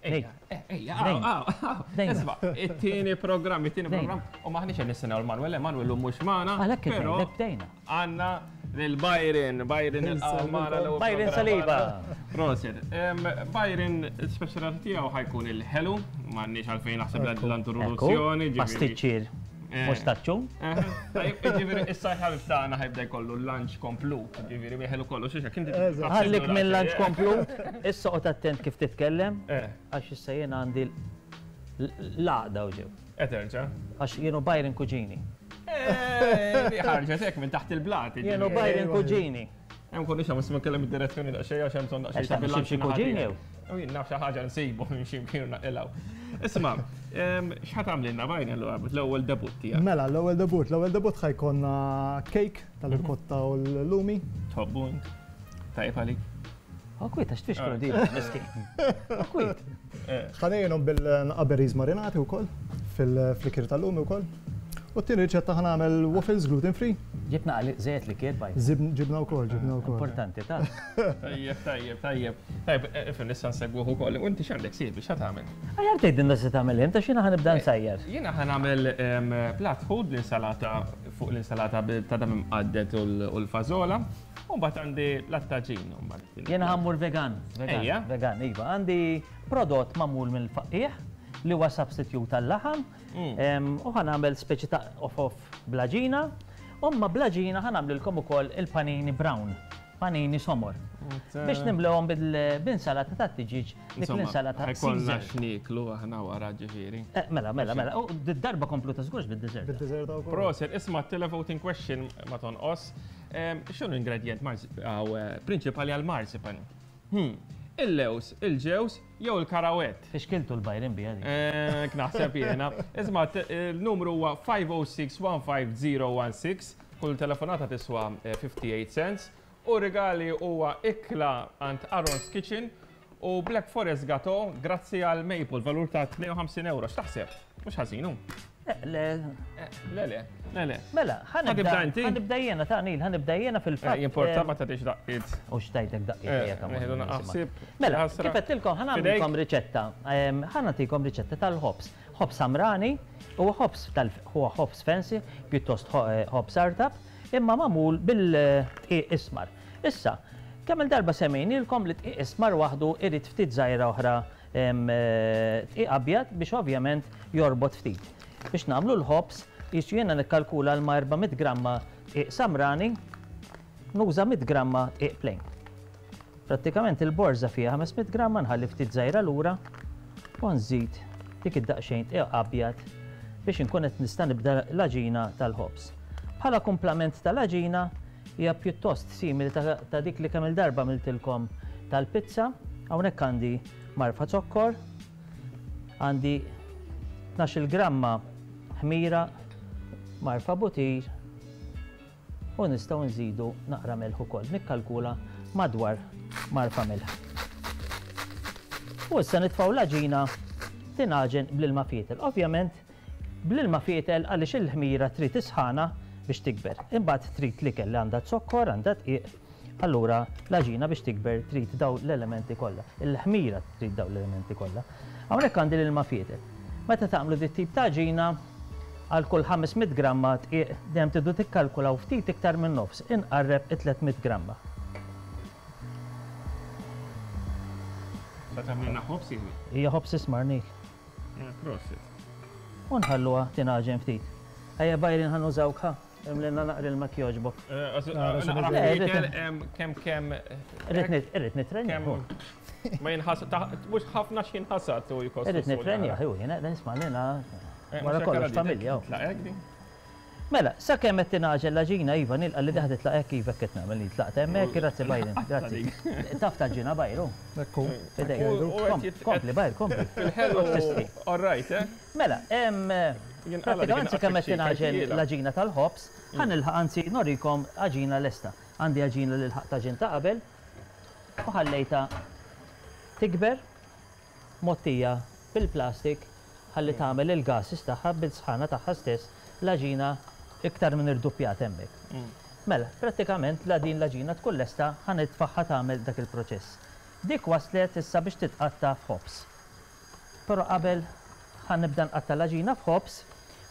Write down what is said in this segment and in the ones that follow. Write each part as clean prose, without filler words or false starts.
Ejja, ejja, Isma, it-tieni programm, it-tieni programm, u maħniex qed nistennew l-Manuel, Emanuel llum mhux magħna. Għalhekk qed bdejna. Għandna lil Byron, Byron il-magħna l Byron Saliba. Proset. Byron, il-speċjalità tiegħu ħajkun il-ħelu, m'għandniex għalfejn naħseb l-introduzzjoni. Pastiċċier. Mustaċċu. Ġifieri issa l-ħabib tagħna ħajbda jkollu l-lunch komplut, ġifieri biħelu kollu xi xek inti. Ħallik mill-lunch komplut, issa qgħod attent kif titkellem, għax issa jien għandi l-għaqda u ġew. Eterġa. Għax jienu Byron Kuġini. Ħarġet hekk minn taħt il-blat. Jienu Byron Kuġini. Hemm konni xi ma nkellem id-direzzjoni daqsxejn għax hemm bżonn daqsxejn ta' bilanċ. Xi kuġin jew? U jien naf xi ħaġa nsibu minn xi mkien naqilgħu. Isma', x'ħa tagħmlilna bajn allura l-ewwel debut tiegħek? Mela, l-ewwel debut, l-ewwel debut ħajkonna cake tal-irkotta u l-lumi. Tħobbu int? Tajjeb għalik? Akwit, għax tfixklu di, miskin. Akwit. Ħanejnhom bil-naqaberries marinati wkoll fil-flikir tal-lumi wkoll. U t-tieni riċetta ħa nagħmel waffles gluten free. Ġibna għal żejt li kier baj. Ġibna wkoll, ġibna wkoll. Importanti ta' Tajjeb, tajjeb, tajjeb. Tajjeb, eh, ifhem issa nsegwuh ukoll. U inti x'għandek siebi, x'ha tagħmel? Aħjar tgħidilna se tagħmel int għax jiena ħa nibda nsajjar. Jiena ħa nagħmel platt ħud l-insalata fuq l-insalata ta' dam imqaddet u l-fażola. U mbagħad għandi l-attaġin. Jiena ħa mmur vegan. Vegan, vegan, iva. Għandi prodott magħmul mill-faqqiegħ li huwa substitute għal-laħam. U ħa nagħmel speċi ta' off-off bl-għaġina. U ma' bl-għaġina ħa nagħmlilkom ukoll il-panini brown, panini somor. Biex nimlewhom bil-insalata tat-tiġieġ, dik l-insalata. Ħajkollna x'nieklu aħna wara ġifieri. Mela, mela, mela. U darba kompluta żgurx bid-dessert. Bid-dessert ukoll. Proset, isma' televoting question ma tonqos. X'inhu ingredient prinċipali għal-marzipan? Il-lews, il-ġewż jew il-karawett? Fixkiltu l-Byron biha dik. Hekk naħseb jiena. Isma' il-numru huwa 50615016, kull telefonata tiswa 58 cents. U rigali huwa ikla għand Aaron's Kitchen u Black Forest Gateau grazzi għal Maple valur ta' 52 euro. X'taħseb? Mhux ħażin hu. Le. Le, le, le, le. Mela, ħanibda inti? Ħanibda jiena ta' Nil, ħanibda jiena fil-fatt. Jimporta ma tagħtix daqqiet. U xtajtek daqqiet. Mela, kif għedtilkom ħa nagħmlilkom riċetta. Ħa nagħtikom riċetta tal-ħobż. Ħobż samrani, huwa ħobż tal huwa ħobż fancy, pjuttost ħobż artab, imma magħmul bil-dqiq ismar. Issa, kemm-il darba semmejnielkom li dqiq ismar waħdu irid ftit żgħira oħra Dqiq abjad biex ovvjament jorbot ftit. Biex nagħmlu l-ħobż, qisu jiena nikkalkula l ma' 400 gramma dqiq samrani, nuża 100 gramma dqiq plain. Prattikament il-borża fiha 500 gramma nħalli ftit żgħira lura u nżid dik id-daqsxejn dqiq abjad biex inkun qed nista' nibda l-għaġina tal-ħobż. Bħala kumplament tal-għaġina Hija pjuttost simili ta' dik li kemm-il darba għamiltilkom tal-pizza. Hawnhekk għandi marfa zokkor, għandi 12-il gramma ħmira, marfa butir u nistgħu nżidu naqra melħ ukoll. Nikkalkula madwar marfa melħ. U issa nitfgħu l-għaġina tingħaġen bl-ilma fietel. Ovvjament Bl-ilma fietel għaliex il-ħmira trid is-sħana biex tikber. Imbagħad trid l-ikel li għandha zokkor, għandha dqiq, allura l-għaġina biex tikber trid dawn l-elementi kollha. Il-ħmira trid dawn l-elementi kollha. Hawnhekk għandi l-ilma fietel. Meta tagħmlu dit-tip ta' għaġina, għal kull 500 gramma dqiq dejjem tridu tikkalkulaw ftit iktar minn nofs, inqarreb it-300 gramma. Sa tagħmlilna ħobż hi? Hija ħobż ismar, Neil. Prosit. U nħalluha tingħaġen ftit. Ejja Byron ħa nużawk ħa. Imlilna naqra ilma jogħġbok. Kemm kemm. Irrid nitrenja. Ma jinħasad, mhux ħafna x'jinħasad u jkost. Irrid nitrenja, hu jiena nisma' lina wara kollox familja. Mela, sakemm qed tingħaġel l-għaġina, iva, nilqa' li daħ titlaq hekk, iva hekk qed nagħmel, li tlaqt hemmhekk, grazzi Byron, grazzi. Taf tgħaġġinha Byron? Ekku. F'idejk. Kompli Byron, kompli. Fil-ħelu, all right, eh? Mela, prattikament sakemm qed tingħaġel l-għaġina tal-ħobż, ħa nilħaq anzi norikom għaġina lesta. Għandi għaġina li lħaqt għaġin ta' qabel u ħallejtha tikber. mgħottija bil-plastik ħalli tagħmel il-gases tagħha bil-sħana tagħha stess l-għaġina iktar minn irduppjat hemmhekk. Mela, prattikament la din l-għaġina tkun lesta ħa nitfagħha tagħmel dak il-proċess. Dik waslet issa biex titqatta' f'ħobż. Però qabel ħa nibda nqatta' l-għaġina f'ħobż,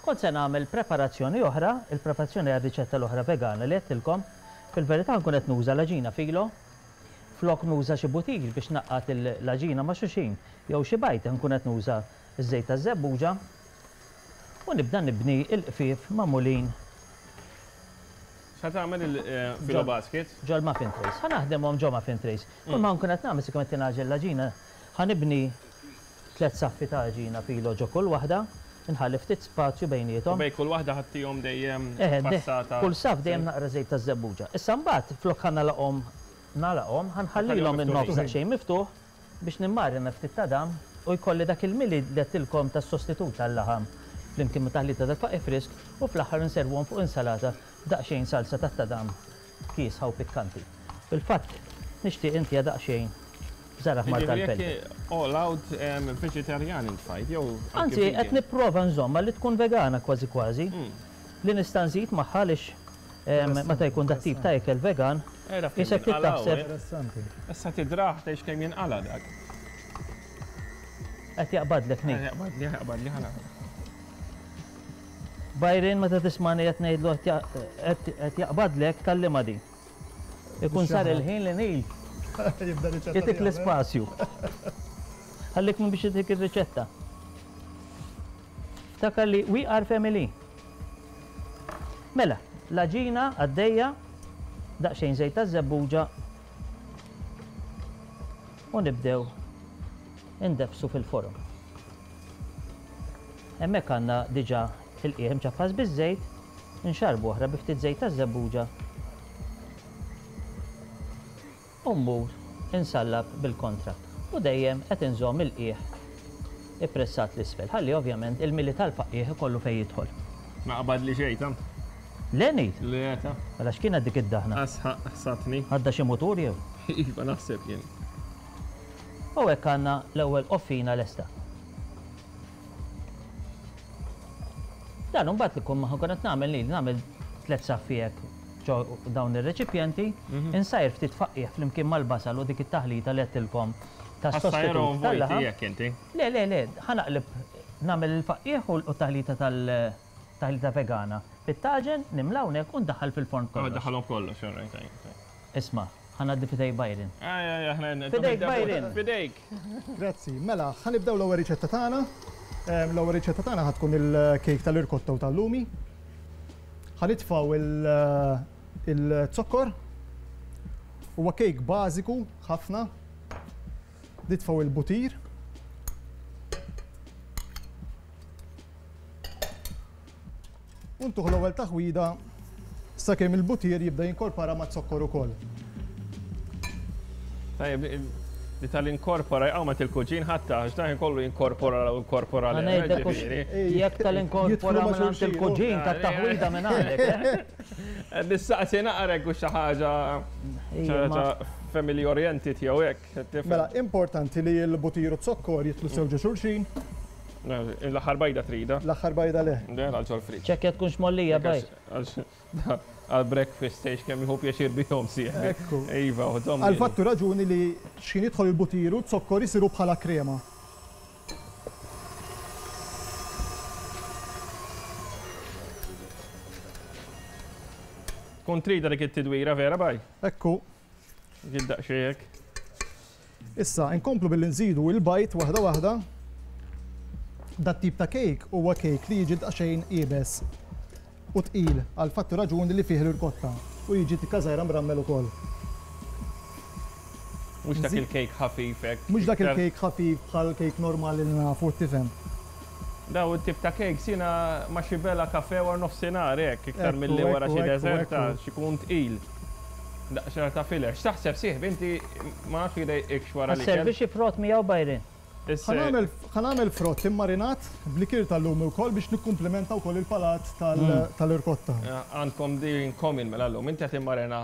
kont se nagħmel preparazzjoni oħra, il-preparazzjoni għar-riċetta l-oħra vegana li għedtilkom. Fil-verità nkun qed nuża l-għaġina filo. Flok nuża xi butir biex ngħaqqad l-għaġina ma' xulxin jew xi bajd nkun qed nuża ż-żejt taż-żebbuġa u nibda nibni l-qfief magħmulin X'ħa tagħmel il-filo basket? Ġol-muffin trays. Ħa naħdimhom ġo muffin trays. Kull ma nkun qed nagħmel sikkome qed tingħaġel l-għaġina, ħa nibni tlett saffi ta' għaġina filo ġo kull waħda, inħalli ftit spazju bejniethom. U bejn kull waħda ħa ttihom dejjem passata. Eħe, kull saff dejjem naqra żejt taż-żebbuġa. Issa mbagħad flok ħa nagħlaqhom nagħlaqhom, ħa nħallilhom in-nofs daqsxejn miftuħ biex nimmarina ftit tadam u jkolli dak il-mili li għedtilkom tas-sostitut tal-laħam flimkien ma' taħlita tal-faqih frisk u fl-aħħar inservuhom fuq insalata b'daqsxejn salsa tat-tadam kiesħa u pikkanti. Fil-fatt nixtieq intiha daqsxejn bżar aħmar tal-pelpe. Jiġifieri jekk all out veġitarjan int fajt jew anke vegan? Anzi qed nipprova nżommha li tkun vegana kważi kważi. Li nista' nżid magħha għaliex Meta jkun dat-tip ta' ikel vegan, qisek trid taħseb. Issa tidrah tgħix kemm jinqala' dak. Qed jaqbadlek Nick. Qed jaqbadli, jaqbadli ħa nara. Byron meta tismani qed ngħidlu qed jaqbadlek tgħallimha din. Ikun sar il-ħin li Neil jtik l-ispazju. Ħallik minn biex jtik ir-riċetta. Ftakar li we are family. Mela, l-għaġina għaddejja, daqsxejn żejt taż-żebbuġa u nibdew indeffsu fil-forom. Hemmhekk għandna diġà il-qiegħ imċappas biż-żejt, inxarrbu oħra bi ftit żejt taż-żebbuġa u mmur insallab bil-kontra u dejjem qed inżomm il-qiegħ ippressat 'l isfel ħalli ovvjament il-mili tal-faqqiegħ ikollu fejn jidħol. Ma qabadli xejn ta. Le ngħid? Le ta. Mela x'kienet dik id-daħna? Ħsatni. Għadda xi mutur jew? Iva naħseb jien. U hekk għandna l-ewwel qoffina lesta. Dan imbagħad li kun ma ħankun qed nagħmel li nagħmel tlett saffi hekk ġo dawn ir-reċipjenti, mhm. insajr ftit faqqiegħ flimkien mal-basal u dik it-taħlita li għedtilkom tas-sostitut tal-laħam. Le, le, le, ħanaqleb nagħmel il-faqqiegħ u t-taħlita tal-taħlita vegana. Fit-taġen nimla hawnhekk u ndaħħal fil-forn kollox. Daħħalhom kollox, all right. Isma', ħa ngħaddi f'idejk Byron. F'idejk Byron. F'idejk. Grazzi. Mela, ħa nibdew l-ewwel riċetta tagħna. L-ewwel riċetta tagħna ħa tkun il-kejk tal-irkotta u tal-lumi. Ħa nitfgħu il-zokkor. Huwa kejk bażiku ħafna. Nitfgħu il-butir. U ntuh l-ewwel taħwida sakemm il-butir jibda jinkorpora maz-zokkor ukoll. Tajjeb, li tal-inkorpora jqawmet il-kuġin ħatta, għax dan kollu jinkorpora u inkorpora l Jekk tal-inkorpora minn il-kuġin tat-taħwida minn għandek. Eh? Nistaqsi naqrek u xi ħaġa family oriented jew hekk. Mela, importanti li l-butir u z-zokkor jitlu sew ġo xulxin. L-aħħar bajda trida? L-aħħar bajda le. Le, għal ġol friġġ. Ċekkja tkunx mollija bajt. Għal breakfast tgħix kemm jieħu pjaċir bihom sieħbi. Ekku. Iva, u żomm. Għal fattu raġuni li x'ħin jidħol il-butir u z-zokkor isiru bħala krema. Tkun trida dik it-tidwira vera baj? Ekku. Dik daqsxejn hekk. Issa, inkomplu billi nżidu il-bajd waħda waħda. Dat-tip ta' kejk huwa kejk li jiġi daqsxejn iebes u tqil għal fatt u raġuni li fih l-irkotta u jiġi tikka żgħira mrammel ukoll. Mhux dak il-kejk ħafif hekk. Mhux dak il-kejk ħafif bħal kejk normali li nafu, tifhem. Daw it-tip ta' cakes jiena ma' xi bela kafè wara nofsinhar hekk, iktar milli wara xi dessert għax ikun tqil. Daqsxejn ta' filler. X'taħseb sieħbi inti ma nafx jdejqikx wara l-ikel. Ħa sservi xi frott miegħu Byron? Ħa nagħmel frott immarinat b'likier tal-lumi wkoll biex nikkumplimenta wkoll il-palat tal-irkotta. Għandkom din in common mela llum. Inti qed immarina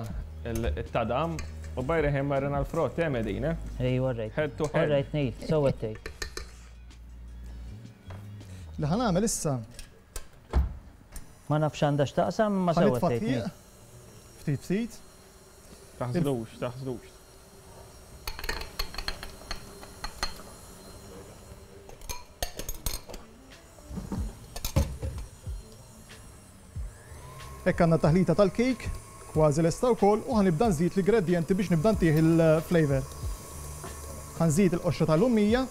t-tadam u Byron ħa jimmarina l-frott, eh Medina? Ejwa all right. Head to head. All right Neil, sewwa qed tgħid. Li ħa nagħmel issa. Ma nafx għandha x'taqsam imma sewwa tgħid. Ftit ftit. Taħsdux, taħsdux. Hekk għandna taħlita tal-kejk, kważi lesta wkoll, u ħa nibda nżid l-ingredjenti biex nibda ntih il-flavour. Ħa nżid il-qoxra tal-lumija.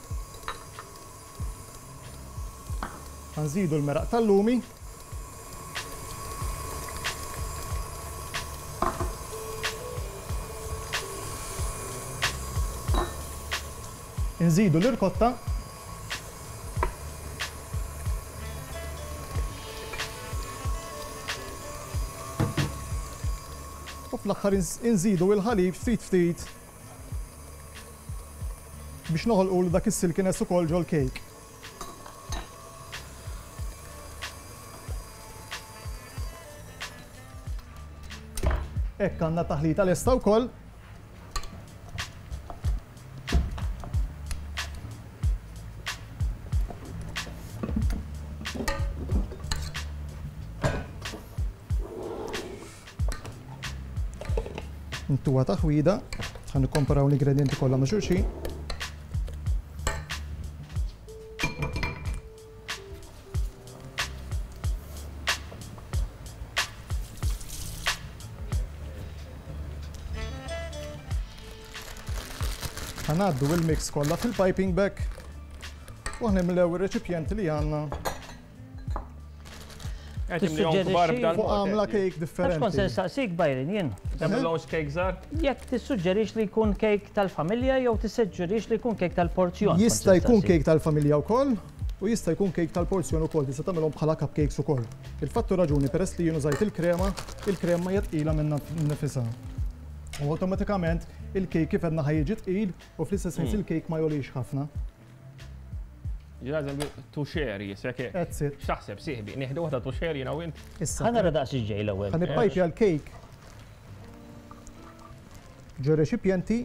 Ħa nżidu l-meraq tal-lumi. Inżidu l-irkotta. U fl-aħħar inżidu il-ħalib ftit ftit biex noħolqulu dak is-silkiness ukoll ġol-kejk. Hekk għandna taħlita lesta wkoll. Intuha taħwida, ħa nikkomparaw l-ingredienti kollha ma' xulxin. Ħa ngħaddu il-mix kollha fil-piping bag u ħa nimlew ir-reċipjenti li għandna. Fuq għamla cake differenti. Għax kont se nistaqsik Byron jien. Tagħmilhomx cake żgħar? Jekk tissuġġerix li jkun cake tal-familja jew tissuġġerix li jkun cake tal-porzjon. Jista' jkun cake tal-familja wkoll u jista' jkun cake tal-porzjon ukoll, tista' tagħmilhom bħala cupcakes ukoll. Il-fatt u raġuni peress li jien użajt il-krema, il-krema hija tqila minnha nnifisha. U awtomatikament il-cake kif għedna ħa jiġi tqil u fl-istess ħin il-cake ma jogħlix ħafna. Jiena eżempju to share jisek. That's it. X'taħseb sieħbi, nieħdu waħda to share jiena u int? Issa. Ħa nara daqs ġej l-ewwel. Ħa nippajpja l-cake ġo reċipjenti.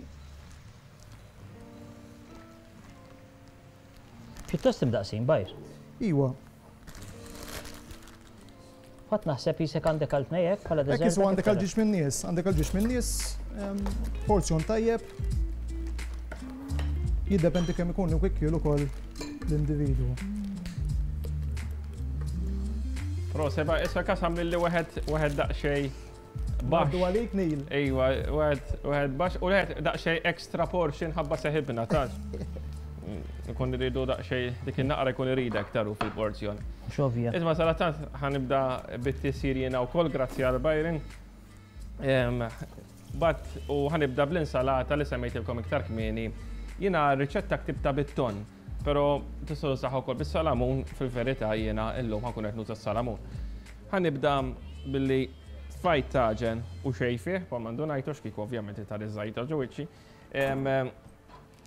Pjuttost imdaqsin, bajr. Iwa. Fatt naħseb jisek għandek għal tnejek bħala deżert. Hekk isu għandek għal ġiex minn nies, għandek għal ġiex minn nies, porzjon tajjeb. Jiddependi kemm ikun ikkiel ukoll l-individwu. Pro seba' issa kasam lilli wieħed wieħed daqsxejn baxx. Għaddu għalik Neil. Ejwa, wieħed wieħed baxx u wieħed daqsxejn extra portion ħabba seħibna tax. Ikun iridu daqsxejn dik in-naqra jkun iridha iktar hu fil-porzjon. Mhux ovvja. Isma' sadattant ħa nibda bit-tisjir jiena wkoll grazzi għal Byron. Bat u ħa nibda bl-insalata li semmejtilkom iktar kmieni. Jiena r-riċetta ktibtha bit-tonn, però tistgħu tużaha wkoll bis-salamun, fil-verità jiena llum ħa nkun qed nuża s-salamun. Ħa nibda billi tfajt taġen u xejn fih, bħalma ndunajtu għax kieku ovvjament itari żajta ġo wiċċi.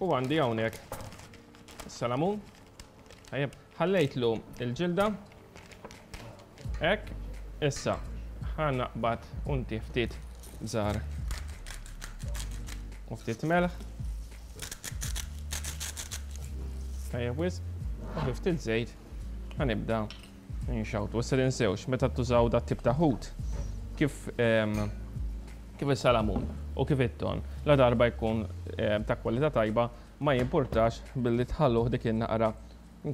U għandi hawnhekk salamun. Tajjeb, ħallejtlu il-ġilda. Hekk, issa ħa naqbad unti ftit bżar u ftit melħ. Tajjeb wisq, u ftit żejt ħa nibda Inxawtu. Issa tinsewx, meta tużaw dat tip ta' ħut, kif kif is-salamun u kif it-ton, la darba jkun ta' kwalità tajba, ma jimpurtax billi tħalluh dik in-naqra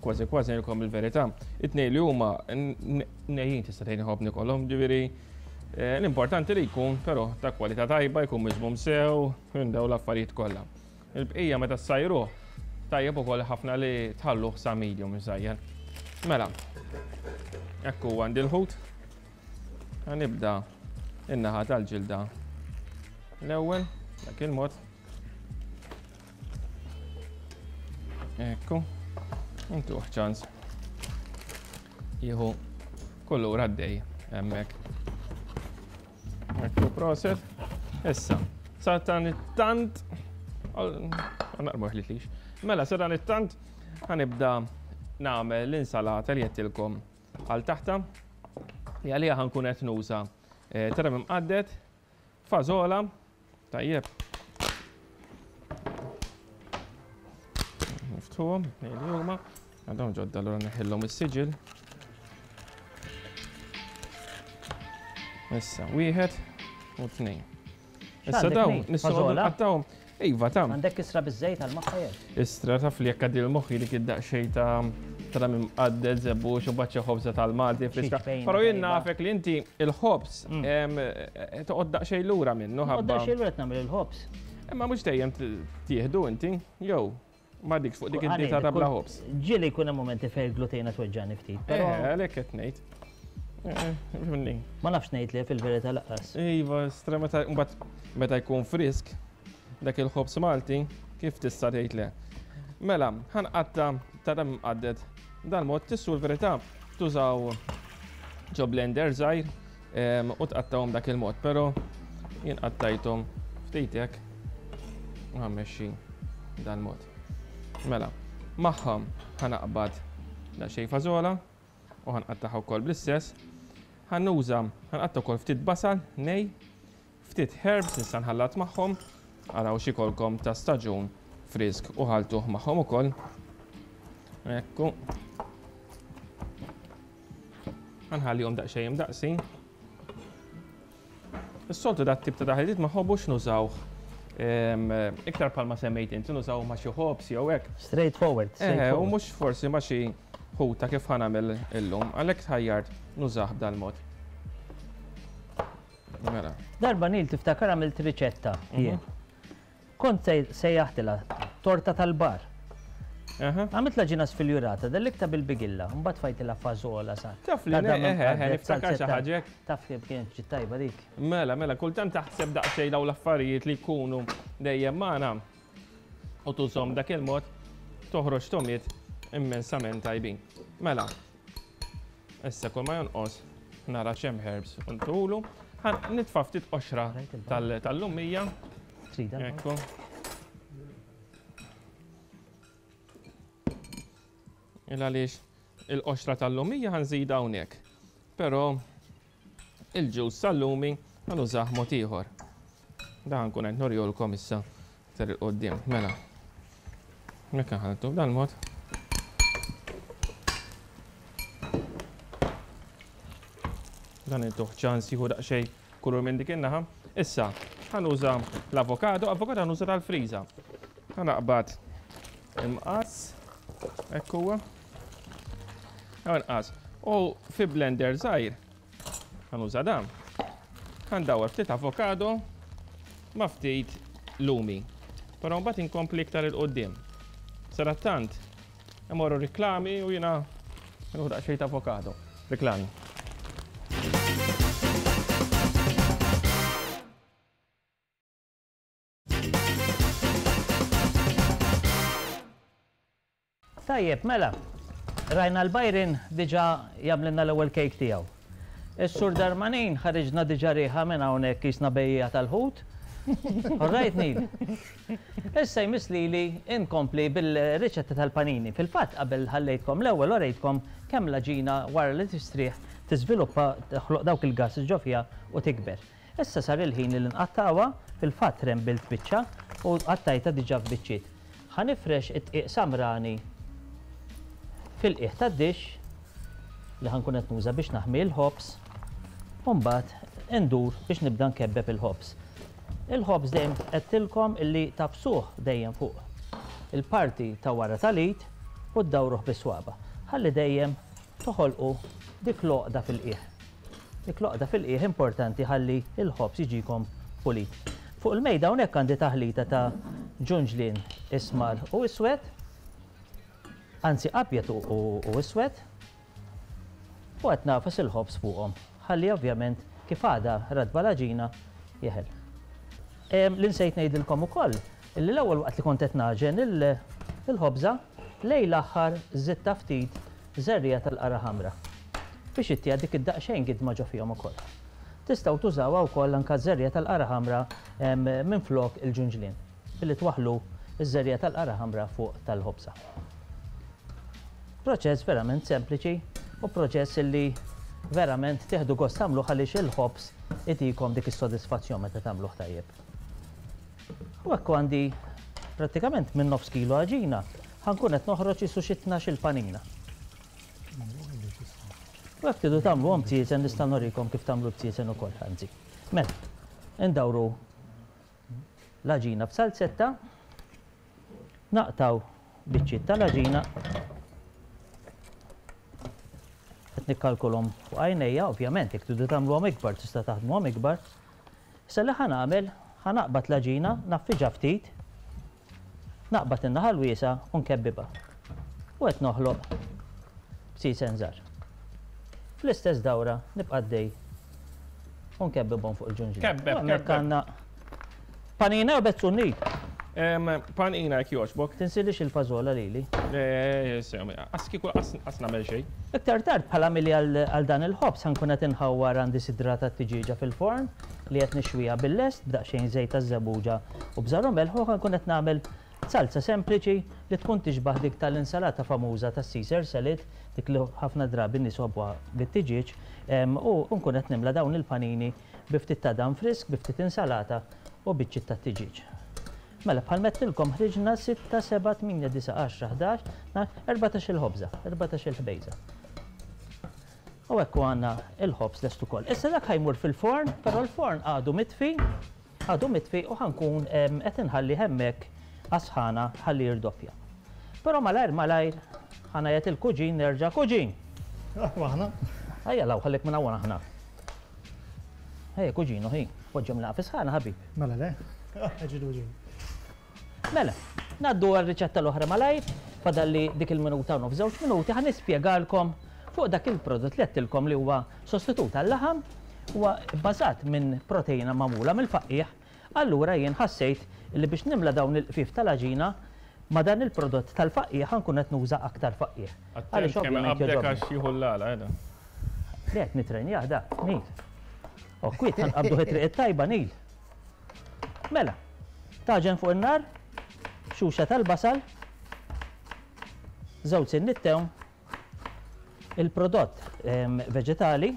kważi kważi ngħidilkom il-verità. It-tnejn li huma nejjin tista' tgħid inħobb nikolhom, ġifieri l-importanti li jkun però ta' kwalità tajba, jkun miżmum sew, minn dawn l-affarijiet kollha. Il-bqija meta ssajruh, tajjeb ukoll ħafna li tħalluh sa medium iżajjar. Mela, hekk huwa għandi l-ħut. Nibda in-naħa tal-ġilda l-ewwel, dak il-mod. Ekku, intuħ ċans. Jieħu kulur għaddej hemmhekk. Ekku proset. Issa, sa dan it-tant, naqrmu ħlitlix. Mela, sa dan it-tant, ħanibda nagħmel l-insalata li jettilkom għal taħta. Li għalija ħankun qed nuża eh, trem imqadded, fażola, tajjeb. Niftħuhom, li huma. Għadhom ġodda allura neħillhom is-siġil. Issa, wieħed u tnejn. Issa dawn, nistgħu nqattawhom. Iva, tam. Għandek isra biż-żejt għal moħħa jew? Istra taf li jekk għaddi l-moħħi dik id-daqsxejn ta' Tara minn qadded żebbuġ u baċċa ħobża tal-Malti friska. Però jien nafek li inti il-ħobż toqgħod daqsxejn lura minnu ħabba. Daqsxejn lura nagħmel il-ħobż. Imma mhux dejjem tieħdu inti, jew ma dik fuq dik id-dieta ta' bla ħobż. Ġieli jkun hemm momenti fejn il-glutejna tweġġani ftit. Però eh, għalhekk qed ngħid. Eh, eh, ma nafx ngħid li fil-verità laqqas. Iva, stra meta mbagħad meta jkun frisk dak il-ħobż Malti kif tista' tgħid le. Mela, ħanqatta ta' dam imqadded dal-mod tissu l-verità tużaw ġo blender żgħir u tqattawhom dak il-mod, però jien qattajthom ftit hekk u ħammexxi dal-mod. Mela, magħhom ħanaqbad daqsxejn fażola u ħanqattaħ ukoll bl-istess. Ħannuża ħanqatta wkoll ftit basal nej Ftit herbs nista' nħallat magħhom, araw x'ikolkom ta' staġun frisk u ħaltuh magħhom ukoll. Ekku. Nħallihom daqsxejn imdaqsin. Is-soltu dat tip ta' taħlitiet ma ħobbux nużawh iktar palma semmejt inti nużaw ma' xi ħobs jew hekk. Straight forward. Eh, u mhux forsi ma' xi ħuta kif ħanamel illum, għalhekk tħajjart nużah b'dal-mod. Mela. Darba Neil tiftakar għamilt riċetta jien. Kont sejjaħtilha torta tal-bar. Għamilt l-għaġina sfiljurata, delliktha bil-bigilla, mbagħad tfajtilha fażola sa. Taf li niftakar xi ħaġa hekk. Taf li kienet ġiet tajba dik. Mela, mela, kultant taħseb daqsxejn dawn l-affarijiet li jkunu dejjem magħna u tużhom dak il-mod toħroġ tomiet immensament tajbin. Mela, Issa kull ma jonqos nara x'hemm herbs u ntulu. Nitfa' ftit qoxra tal-lumija. Ekku. Il għaliex il-qoxra tal-lumija ħanżida hawnhekk. Però il-ġus tal-lumi ħanużah mod ieħor. Dan nkun qed nurjulkom issa Iktar 'il quddiem, mela. Hekk inħalltu b'dal-mod. Dan intuh ċans jieħu daqsxejn kulur minn dik in-naħa. Issa, ħanuża l-avokado, avokado ħanuża tal-friża. Ħanaqbad imqas, hekk huwa. Inqas. U fi blender żgħir Ħa nuża dan. Ħa ndawwar ftit avokado ma' ftit lumi. Però mbagħad inkompli iktar 'il quddiem. Sadattant imorru riklami u jiena nieħu daqsxejn ta' avokado. Riklami. Tajjeb, mela, rajna l-Byron diġà jagħmlilna l-ewwel kejk tiegħu. Is-Sur Darmanin ħariġna diġà riħa minn hawnhekk qisna bejjiegħa tal-ħut. All right, Neil? Issa jmiss lili nkompli bil-riċetta tal-panini. Fil-fatt qabel ħallejtkom l-ewwel urejtkom kemm l-għaġina wara li tistrieħ tiżviluppa toħloq dawk il-gases ġo fiha u tikber. Issa sar il-ħin li nqattgħuha, fil-fatt rembilt biċċa u qattajtha diġà f'biċċiet. Ħa nifrex id-dqiq samrani fil-qiegħ tad-dixx li ħa nkun qed nuża biex naħmi l-ħobż u mbagħad indur biex nibda nkebbeb il-ħobż. Il-ħobż dejjem għedtilkom illi tagħfsuh dejjem fuq il-parti ta' wara tal-id u ddawruh bis-swaba' ħalli dejjem toħolqu dik l-għoqda fil-qiegħ. Dik l-għoqda fil-qiegħ importanti ħalli l-ħobż jiġikom pulit. Fuq il-mejda hawnhekk għandi taħlita ta' ġunġlien ismar u iswed, anzi abjad u iswed, u qed nagħfas il-ħobż fuqhom ħalli ovvjament kif għadha ratba l-għaġina jeħel. Li nsejt ngħidilkom ukoll illi l-ewwel waqt li kont qed nagħġen il-ħobża, lejn l-aħħar żidtha ftit żerriegħa tal-qara ħamra biex ittiha dik id-daqsxejn gidma ġo fihom ukoll. Tistgħu tużawha wkoll anke ż-żerriegħa tal-qara ħamra minflok il-ġunġlien billi twaħħlu ż-żerriegħa tal-qara ħamra fuq tal-ħobża. Proċess verament sempliċi u proċess illi verament tieħdu gost tagħmluh għaliex il-ħobż itikom dik is-sodisfazzjon meta tagħmluh tajjeb. U hekk għandi prattikament minn nofs kilo għaġina ħa nkun qed noħroġ qisu xi tnax-il panina. U jekk tridu tagħmluhom bziezen nista' nurikom kif tagħmlu l-bziezen ukoll, anzi. Mela, indawru l-għaġina f'salzetta, naqtgħu biċċiet tal-għaġina. Nikkalkulhom fuq għajnejja, ovvjament jekk tridu tagħmluhom ikbar tista' taħdmuhom ikbar. Issa li ħa nagħmel, ħa naqbad l-għaġina, ngħaffiġha ftit, naqbad in-naħa l-wiesgħa u nkebbibha. U qed noħloq bsisen żgħar. Fl-istess dawra nibqa' għaddej u nkebbibhom fuq il-ġunġliel. Kebbeb, U hemmhekk kebbeb. għandna panina u bezzun nid. Panina jekk jogħġbok. Tinsilix il-fażola lili. Qas kieku qas nagħmel xejn. Iktar tard bħala mili għal dan il-ħobż ħa nkun qed inħawwar għandi sidra tat-tiġieġa fil-forn li qed nixwiha bil-lest b'daqsxejn żejt taż-żebbuġa u bżar u melħ u ħa nkun qed nagħmel salza sempliċi li tkun tixbah dik tal-insalata famuża tas-Caesar salad, dik li ħafna drabi n-nies iħobbuha bit-tiġieġ, u nkun qed nimla dawn il-panini bi ftit tadam frisk, bi ftit insalata u biċċiet tat-tiġieġ. Mela, bħal m'għedtilkom ħriġna sitta, seba', tmienja, disa', għaxra, ħdax, tnax, erbatax-il ħobża, erbatax-il ħbejża. U hekk għandna il-ħobż lest ukoll. Issa dak ħa jmur fil-forn, però l-forn għadu mitfi, għadu mitfi u ħa nkun qed inħallih hemmhekk għas-sħana ħalli jirdoppja. Però malajr malajr ħa ngħajjat il-kuġin nerġa' kuġin! Aħna. Ejja law ħallik minn hawn aħna. Ejja kuġinu ħi, poġġhom laqgħa fi sħana ħabib. Mela le. Ġidu ġidu. Mela, ngħaddu għar-riċetta l-oħra malajr, fadalli dik il-minuta u nofs żewġ minuti ħa nispjegalkom fuq dak il-prodott li għedtilkom li huwa sostitut għal-laħam, huwa bbażat minn proteina magħmula mill-faqqiegħ, allura jien ħassejt li biex nimla dawn il-qfief tal-għaġina ma' dan il-prodott tal-faqqiegħ ħa nkun qed nuża aktar faqqiegħ. Attent Għaliex kemm ovvjament iqabbdek jogħġobni. għax jieħu l-għala, eh, da. Le qed nitrenjah da, Neil. O kwiet ħa nqabbduh it-triq it-tajba, Neil. Mela, taġen fuq in-nar, xuxa tal-basal, żewġ sinniet tewm, il-prodott veġetali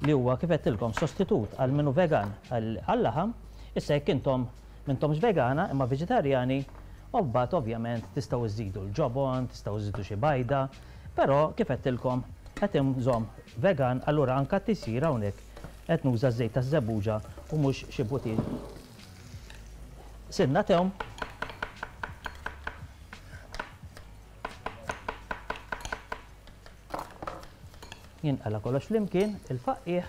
li huwa kif għedtilkom sostitut għal min hu vegan għal-laħam, issa jekk intom m'intomx vegana imma veġetarjani, u mbagħad ovvjament tistgħu żżidu l-ġobon, tistgħu żżidu xi bajda, però kif għedtilkom qed inżomm vegan, allura anke t-tisjir hawnhekk qed nuża ż-żejt taż-żebbuġa u mhux xi butir. Sinna tewm. Jinqala kollox flimkien, il-faqqiegħ.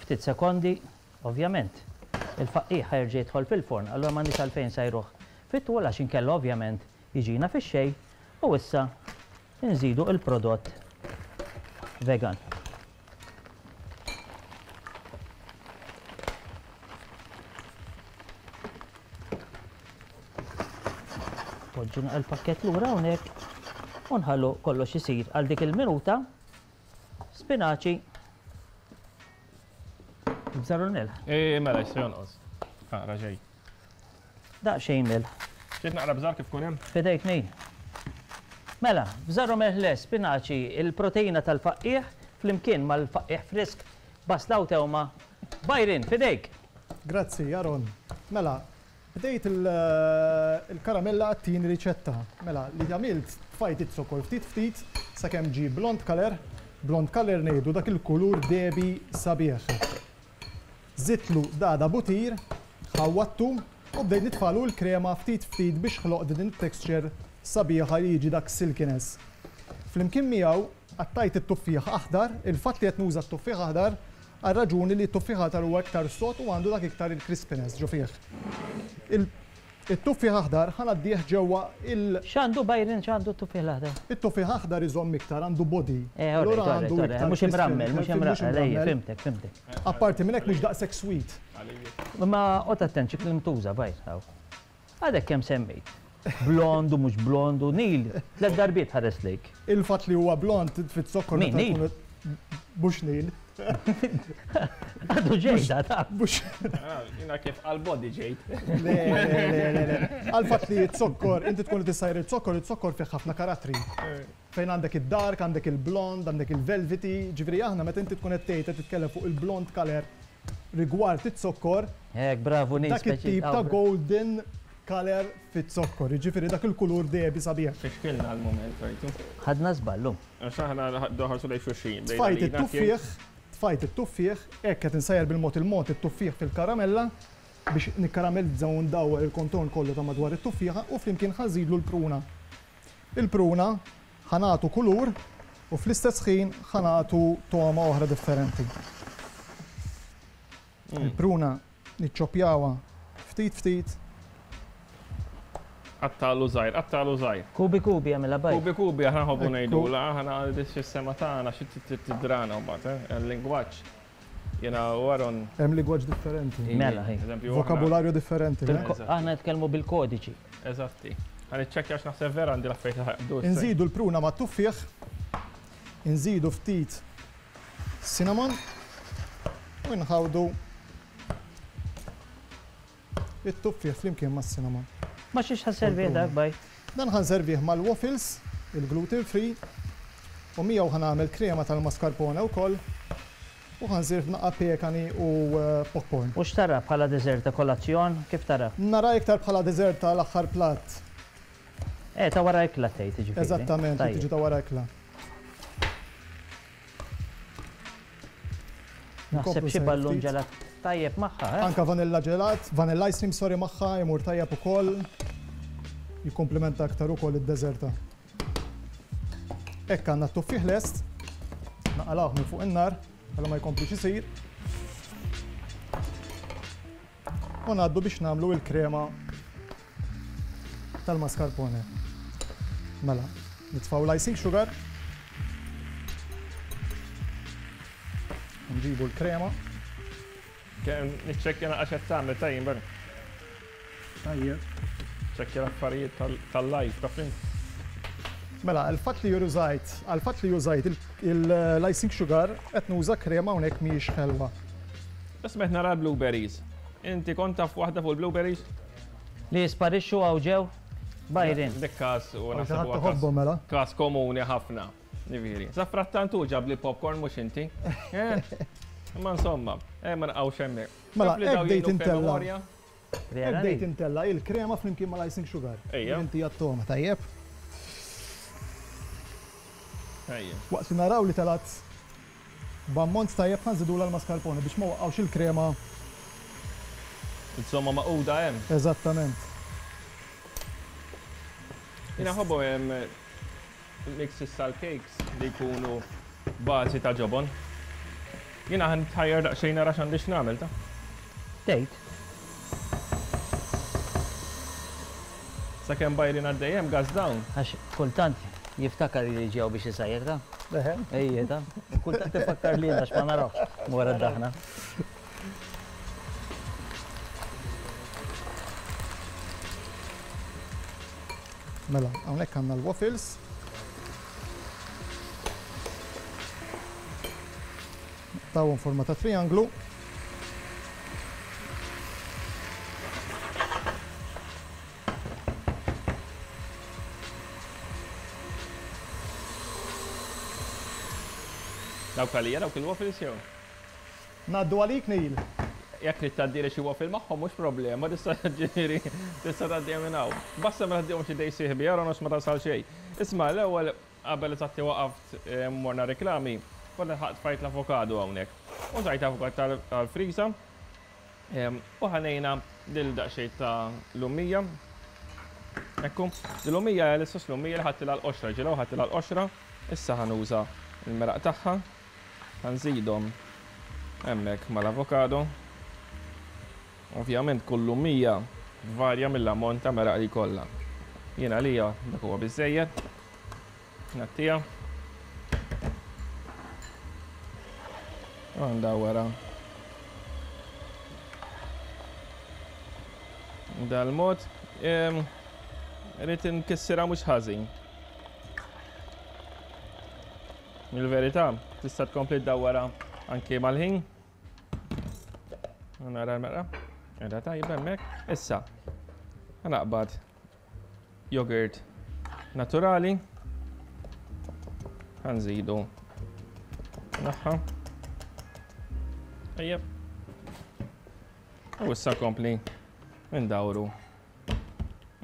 Ftit sekondi, ovvjament, il-faqqiegħ ħa jerġa' jidħol fil-forn, allura m'għandniex għalfejn nsajruh fit-tul għax inkella ovvjament jiġina fix-xejn u issa nżidu il-prodott vegan. Poġġu naqra l-pakkett lura hawnhekk u nħallu kollox isir għal dik il-minuta. Spinaċi. Bżar u l-melħ. Eh, mela, jista' jonqos. Naqra ġej. Daqsxejn melħ. Trid naqra bżar kif kun hemm? Fidejk Neil. Mela, bżar u melħ le, spinaċi, il-proteina tal-faqqiegħ flimkien mal-faqqiegħ frisk, basla u tewma. Byron, fidejk! Grazzi, Aaron. Mela, bdejt il-karamella għat-tieni riċetta. Mela, li għamilt tfajt iz-zokkor ftit ftit sakemm ġie blond color. Blond color ngħidu dak il-kulur dehbi sabiħ. Żidtlu dada butir, ħawwadtu u bdejt nitfalu l-krema ftit ftit biex ħloqt din it-texture sabiħa li jiġi dak silkiness. Flimkien miegħu qattajt it-tuffieħ aħdar, il-fatt li qed nuża t-tuffieħ aħdar għar-raġuni li t-tuffieħ aħdar huwa iktar sod u għandu dak iktar il-crispiness ġo fih. Il-tuffieħ aħdar ħa ngħaddih ġewwa il. X'għandu Byron, x'għandu t-tuffieħ l-aħdar? It-tuffieħ aħdar iżomm iktar, għandu body. Eh, all right, Allura all right, għandu all right. iktar Mhux imrammel, mhux crispiness, mhux imrammel, ejja, imrammel. fhimtek, fhimtek. Apparti minn hekk mhux daqshekk sweet. Imma oqgħod attent xi kliem tuża, Byron, hawn. Għadek kemm semmejt. Blond u mhux blond u Neil, tliet darbiet ħares lejk. Il-fatt li huwa blond fit-zokkor Min, meta Neil? jkun mhux Neil. Għadu ġejda, ta' Mhux. Jiena kif għal-body ġejt. Le, le, le, le, le. Għal-fatt li z-zokkor, inti tkun qed issajr iz-zokkor, iz-zokkor fih ħafna karattri. Fejn għandek id-dark, għandek il-blond, għandek il-velvety, ġifieri aħna meta inti tkun qed tgħid qed titkellem fuq il-blond color rigward iz-zokkor, Hekk, bravu Neil, dak it-tip speċi. ta' golden color fit-zokkor, jiġifieri dak il-kulur dehbi sabiħ. Fixkilna għal-moment, rajtu. Ħadna żballu. Għax aħna doħarsu lejn xulxin. Tfajt it-tuffieħ, tfajt it-tuffieħ, hekk qed insajjar bil-mod il-mod it-tuffieħ fil-karamella. biex nikkaramelizza u ndawwar il-kontorn kollu ta' madwar it-tuffieħa u flimkien ħa nżidlu l-pruna. Il-pruna ħa nagħtu kulur u fl-istess ħin ħa nagħtu togħma oħra differenti. Il-pruna niċċoppjawha ftit ftit. Qattagħlu żgħir, qattagħlu żgħir. Kubi kubi għamilha bajt. Kubi kubi aħna nħobbu ngħidulha, aħna fis-sema tagħna xi tidrana mbagħad, eh, il-lingwaġġ. Jiena u Aaron. Hemm lingwaġġ differenti. Mela, hi. Vokabularju differenti. Aħna nitkellmu bil-kodiċi. Eżatti. Ħa niċċekkja għax naħseb vera għandi l-affarijiet li ħa jaqbdu. Inżidu l-pruna mat-tuffieħ, inżidu ftit cinnamon u nħawdu it-tuffieħ flimkien mas-cinnamon. Ma' xiex ħa sservih dak, baj? Dan ħa nservih mal-waffles, il-gluten free, u miegħu ħa nagħmel krema tal-mascarpone wkoll u ħa nżir f'naqqa pekani u popcorn. U x'tara bħala dessert ta' kolazzjon? Kif tara? Nara iktar bħala dessert tal-aħħar platt. Eh, ta' wara ikla tgħid, jiġifieri. Eżattament, li tiġi ta' wara ikla. Naħseb xi ballun ġelat tajjeb magħha, eh? Anka vanilla ġelat, vanilla ice cream sorry magħha imur tajjeb ukoll. Jikkumplimenta aktar ukoll id-deżerta. Hekk għandna t-tuffieħ lest. Naqalgħuh minn fuq in-nar, ħalli ma jkomplix isir. U ngħaddu biex nagħmlu il-krema tal-mascarpone. Mela, nitfgħu l-icing sugar. Nġibu l-krema. Kemm niċċekkja naqra x'qed tagħmel tajjeb barra. Tajjeb. Ċekkja l-affarijiet tal-live taf int. Mela, il-fatt li użajt, għal-fatt li użajt l-icing sugar qed nuża krema hawnhekk mhijiex ħelwa. Isma' qed nara l-blueberries. Inti kont taf waħda fuq il-blueberries? Li jisparixxu hawn ġew? Byron. Dik każ u naħseb huwa każ. Mela. Każ komuni ħafna. Jiġifieri. Sa frattant hu ġabli popcorn mhux inti. Eh? Imma insomma, eh ma naqgħux hemmhekk. Mela, hekk bdejt intella. Hekk bdejt intella il-krema flimkien mal-icing sugar. Ejja. Inti għat-togħma, tajjeb? Ejja. Waqt li naraw li telgħet B'ammont tajjeb ħa nżidulha l-mascarpone biex ma waqqgħux il-krema. Insomma magħquda hemm. Eżattament. Jiena nħobbhom hemm mixes tal-cakes li jkunu bażi ta' ġobon. Jiena ħa nitħajjar daqsxejn nara x'għandi x'nagħmel ta'. Tgħid. Sakemm Byron għaddej hemm gas down. Għax kultant jiftakar li ġew biex isajjer ta'. Eħe. Ejje ta. Kultant ifakkar li għax ma narawx wara d-daħna. Mela, hawnhekk għandna l-waffles. Tawhom forma ta' trianglu. Dawk għalija dawk il-waffles jew? Ngħaddu għalik Neil. Jekk trid tgħaddili xi waffle magħhom mhux problema, tista' ġifieri tista' tgħaddihom minn hawn. Basta ma tgħaddihomx idej sieħbi Aaron għax ma tasal xejn. Isma' l-ewwel qabel eżatti waqaft morna reklami, kont ilħaqt tfajt l-avokado hawnhekk. Użajt avokado tal-friża. U ħanejna lil daqsxejn ta' lumija. Ekku, l-lumija hija l-istess lumija li ħadtilha l-qoxra, ġilaw ħadtilha l-qoxra, issa ħa nuża l-meraq tagħha, ħa nżidhom hemmhekk mal-avokado. Ovvjament kull lumija tvarja mill-ammont ta' meraq li jkollha. Jien għalija dak huwa biżżejjed. Ngħattiha. U ndawwarha. Dal-mod. Rrid inkissirha mhux ħażin. Il-verità, tista' tkompli ddawwarha anki mal-ħin. Nara l-merqa. Qiegħda tajba hemmhekk. Issa, naqbad Yogurt naturali. Ħa nżidu naħħa. Ejjeb. U issa kompli ndawru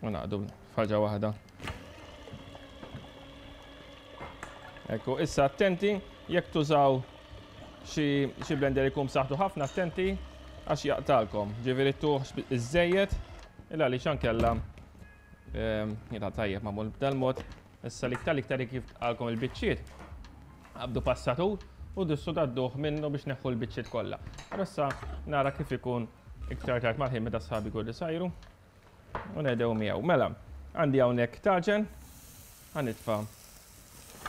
u naqdu f'ħaġa waħda. Ekku, issa attenti jekk tużaw xi blender ikun b'saħħtu ħafna attenti. għax jaqtalkom. Ġifieri tuħx iż-żejjed illa għaliex ankella jita tajjeb magħmul b'dal-mod. Issa l-iktar l-iktar kif tqalkom il-biċċiet, qabdu passatur u dissu tgħadduh minnu biex neħħu l-biċċiet kollha. Però issa nara kif ikun iktar tard mal-ħin meta sħabi jkunu sajru u nedew miegħu. Mela, għandi hawnhekk taġen, ħa nitfa'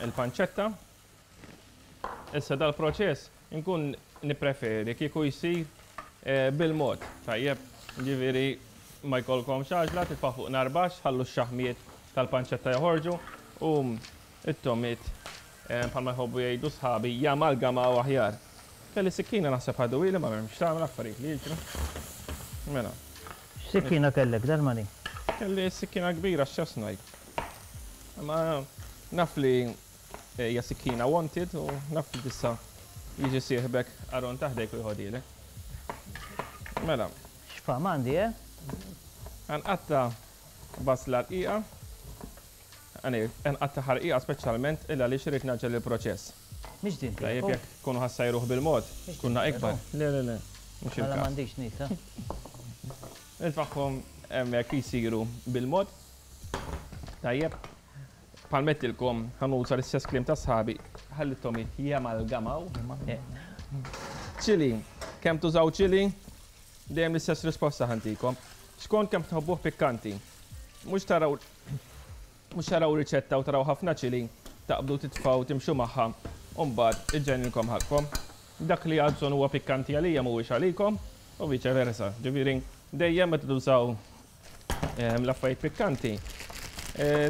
il-panċetta. Issa dal-proċess inkun nippreferi kieku jsir bil-mod, tajjeb? Jiġifieri ma jkollkomx għaġla, titfgħu fuq nar baxx, ħallu x-xaħmijiet tal-panċetta joħorġu u t-tomiet bħalma jħobbu jgħidu sħabi jamalgamaw aħjar. Kelli sikkina naħseb ħaduhieli ma m'hemmx x'tagħmel affarijiet li jiġru. Mela. X'sikkina kellek, Darmanin? Kelli sikkina kbira x-chef's knife. Imma naf li Hija sikkina wanted u naf li tista' jiġi sieħbek Aaron ta' ħdejk u jħodhielek. Mela. X'fahma għandi, eh? Ħa nqatta' basla rqiqa. Ħa nqattagħha rqiqa speċjalment il għaliex irrid ngħaġġel il-proċess. Mhix din tiegħek. Tajjeb jekk tkunu ħa ssajruh bil-mod, tkun ikbar. Le, le, le. Mhux il-każ. Mela m'għandix nisa. Nitfagħhom hemmhekk jsiru bil-mod. Tajjeb. Bħal m'għedtilkom, ħa nuża l-istess kliem ta' sħabi, ħalli t-togħmiet jamalgamaw. Chili, kemm tużaw chili? Dejjem l-istess risposta ħa ntikom. Skont kemm tħobbuh pikkanti. Mhux taraw mhux taraw riċetta u taraw ħafna chili, taqbdu titfgħu timxu magħha u mbagħad iġġenninkom ħalqkom. Dak li għal bżonn huwa pikkanti għalija mhuwiex għalikom u viċe versa. Ġifieri dejjem meta tużaw l-affarijiet pikkanti,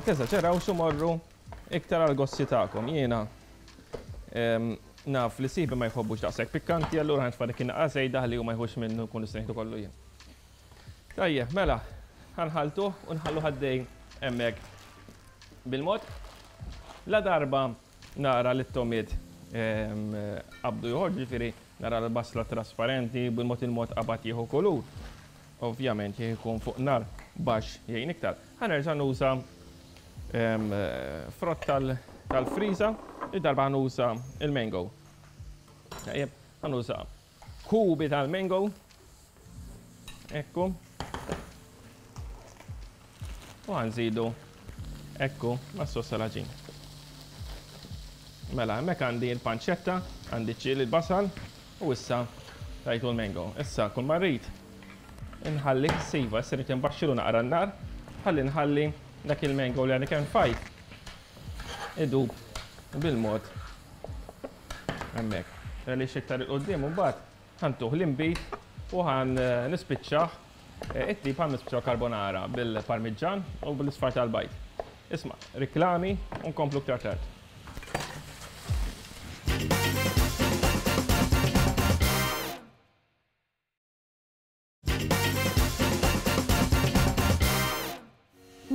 teżaġerawx u morru iktar għall-gosti tagħkom. Jiena naf li sieħbi ma jħobbux daqshekk pikkanti, allura ħa nitfa' dik in-naqra żejda ħalli hu ma jħux minnu nkun nista' nieħdu kollu jien. Tajjeb, mela, ħa nħalltuh u nħalluh għaddej hemmhekk bil-mod. La darba Nara li t-togħmiet qabdu joħorġu, jiġifieri nara l-basla trasparenti, bil-mod il-mod qabad jieħu kulur. Ovvjament jekk ikun fuq nar baxx jgħin iktar. Ħa nerġa' nuża frott tal-friża, id-darba ħa nuża l-mango. Tajjeb, ħa nuża kubi tal-mango. Ekku. U għanżidu ekku mas-sos tal-għaġin. Mela, hemmhekk għandi l-panċetta, għandi ċ-ċili, l-basal u issa tajtu l-mango. Issa kull ma rrid inħalli siva, issa rrid inbaxxilu naqra n-nar, ħalli nħalli dak il-mango li għandi kemm fajt idub bil-mod hemmhekk. Għaliex iktar 'il quddiem imbagħad ħa ntuh l-inbid u ħa nispiċċah it-tip ħa nispiċċaw carbonara bil-parmiġġan u bl-isfar tal-bajd. Isma', riklami u nkomplu iktar tard.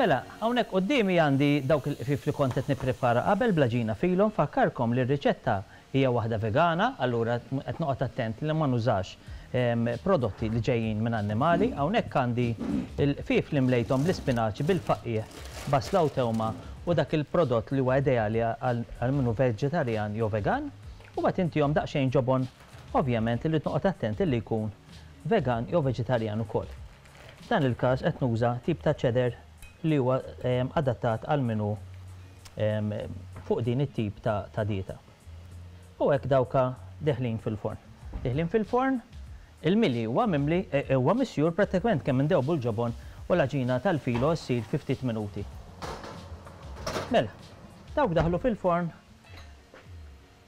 Mela, hawnhekk quddiemi għandi dawk il-qfief li kont qed nipprepara qabel bl-għaġina filo. Nfakkarkom li r-riċetta hija waħda vegana, allura qed noqgħod attent li ma nużax prodotti li ġejjin minn annimali. Hawnhekk għandi l-qfief li mlejthom bl-ispinaċi, bil-faqqiegħ, basla u tewma u dak il-prodott li huwa ideali għal min hu veġetarjan jew vegan. U mbagħad intihom daqsxejn ġobon, ovvjament irrid noqgħod attent li jkun vegan jew veġetarjan ukoll. F'dan il-każ qed nuża tip ta' cheddar li huwa adattat għal min hu fuq din it-tip ta' dieta. U hekk dawka deħlin fil-forn. Deħlin fil-forn, il-mili huwa mimli, huwa misjur prattikament kemm indewbu l-ġobon u l-għaġina tal-filo ssir fi ftit minuti. Mela, dawk daħlu fil-forn,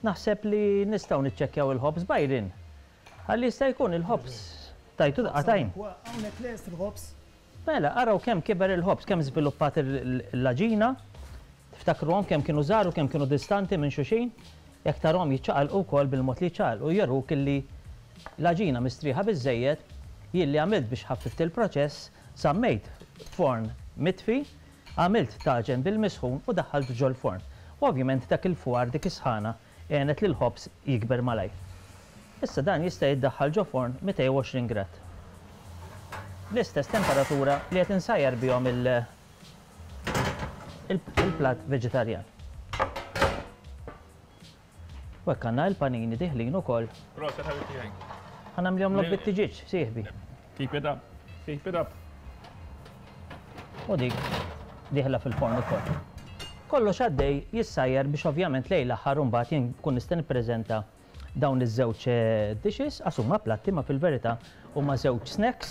naħseb li nistgħu niċċekkjaw il-ħobż Byron. Ħalli jista' jkun il-ħobż tajtu daqqa t'għajn. Hawnhekk lest il-ħobż. Mela, araw kemm kiber il-ħobż, kemm żviluppat l-għaġina. Tiftakruhom kemm kienu żgħar u kemm kienu distanti minn xulxin? Jekk tarahom jiċċaqalqu wkoll bil-mod li jiċċaqalqu juruk illi l-għaġina mistrieħa biżżejjed. Jien li għamilt biex ħaffift il-proċess, żammejt forn mitfi, għamilt taġen bil-misħun u daħħaltu ġol-forn. U ovvjament dak il-fwar, dik is-sħana, għenet lill-ħobż jikber malajr. Issa dan jista' jiddaħħal ġo forn 220 grad. Bl-istess temperatura li qed insajjar bihom il-platt veġitarjan. U hekk għandna il-panini diħlin ukoll. Proset ħabib tiegħi. Ħa nagħmlihomlok bit-tiġieġ, sieħbi. Keep it up. Keep it up. U dik dieħla fil-forn ukoll. Kollox għaddej jissajjar biex ovvjament lejn l-aħħar imbagħad jien nkun nista' nippreżenta dawn iż-żewġ dishes, għax huma platti ma fil-verità huma żewġ snacks,